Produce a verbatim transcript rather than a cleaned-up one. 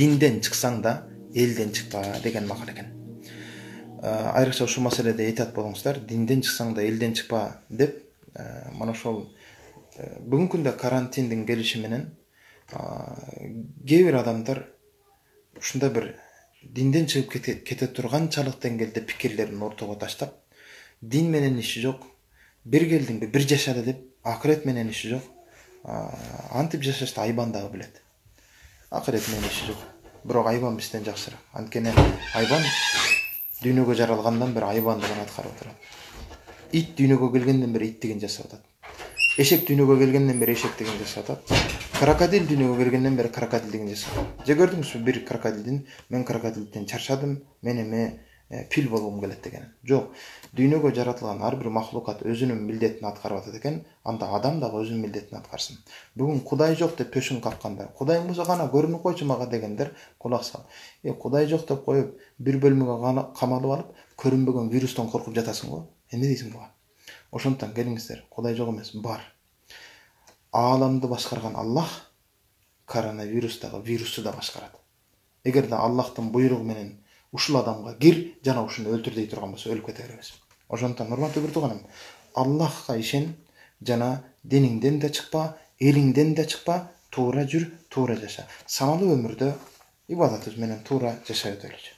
динден чыксаң да элден чыкпа деген макал экен. Айрыкча ушул маселеде этият болуңуздар. Динден чыксаң да элден чыкпа деп mana ошол бүгүнкү күндө карантиндин келиши менен кээ бир адамдар ушундай бир динден чыгып кете турганчалык деңгээлде пикирлерин ортого таштап, дин менен иши жок, бир келдиңби бир жашады деп акырет менен иши жок, антип жашашты айбан дагы билет. Акырет менен иши жок, бирок айбан бизден жакшыраак. Анткени айбан дүйнөгө жаралгандан бери айбандыгын аткарып отурат. Ит дүйнөгө келгенден бери иттигин жасап атат. Эшек дүйнөгө келгенден бери эшектигин жасап атат. Крокодил дүйнөгө келгенден бери крокодилдигин жасап атат. Же көрдүңүзбү бир крокодилдин мен крокодилден чарчадым, мен эми фил болгум келет деген. Жок, дүйнөгө жаратылган ар бир махлукат өзүнүн милдетин аткарып атат экен, анда адам дагы өзүнүн милдетин аткарсын. Бүгүн Кудай жок деп төшүн каккандар, Кудайың болсо кана көрүнүп койчу мага дегендер кулак сал. Э, Кудай жок деп коюп, бир бөлмөгө камалып алып, көрүнбөгөн вирустан коркуп жатасың го. Эмне дейсиң буга? Ошондон келиңиздер, Кудай жок эмес, бар. Ааламды башкарган Аллах коронавирустагы вирусту да башкарат. Эгерде Аллахтын буйругу менен ушул адамга кир жана ушуну өлтүр дей турган болсо өлүп кете беребиз. Ошондон урматтуу бир тууганым, Аллахка ишен жана диниңден да чыкпа, элиңден да чыкпа, туура жүр, туура жаша. Саналуу өмүрдө ибадатыбыз менен туура жашай өтөлүчү.